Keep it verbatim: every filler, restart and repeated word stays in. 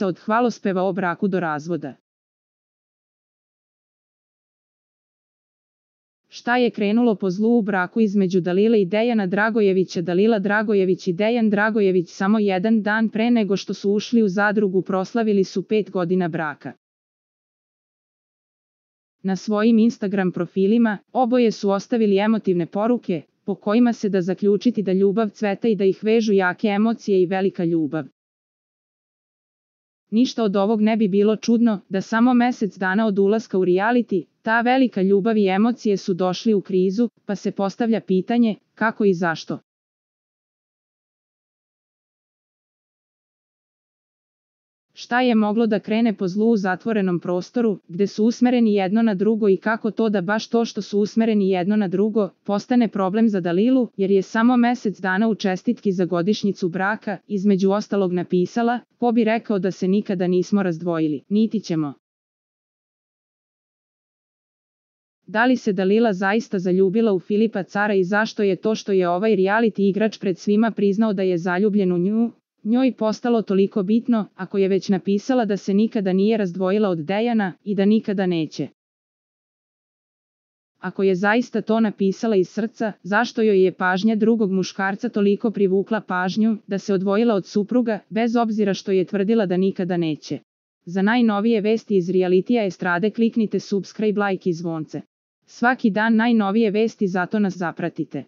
ulica od hvalospeva o braku do razvoda. Šta je krenulo po zlu u braku između Dalile i Dejana Dragojevića? Dalila Dragojević i Dejan Dragojević samo jedan dan pre nego što su ušli u zadrugu proslavili su pet godina braka. Na svojim Instagram profilima oboje su ostavili emotivne poruke, po kojima se da zaključiti da ljubav cveta i da ih vežu jake emocije i velika ljubav. Ništa od ovog ne bi bilo čudno da samo mesec dana od ulaska u reality, ta velika ljubav i emocije su došli u krizu, pa se postavlja pitanje, kako i zašto. Šta je moglo da krene po zlu u zatvorenom prostoru, gde su usmereni jedno na drugo i kako to da baš to što su usmereni jedno na drugo, postane problem za Dalilu, jer je samo mesec dana u čestitki za godišnjicu braka, između ostalog napisala, ko bi rekao da se nikada nismo razdvojili, niti ćemo. Da li se Dalila zaista zaljubila u Filipa Cara i zašto je to što je ovaj reality igrač pred svima priznao da je zaljubljen u nju, njoj postalo toliko bitno, ako je već napisala da se nikada nije razdvojila od Dejana i da nikada neće? Ako je zaista to napisala iz srca, zašto joj je pažnja drugog muškarca toliko privukla pažnju da se odvojila od supruga, bez obzira što je tvrdila da nikada neće? Za najnovije vesti iz realitija estrade kliknite subscribe, like i zvonce. Svaki dan najnovije vesti, zato nas zapratite.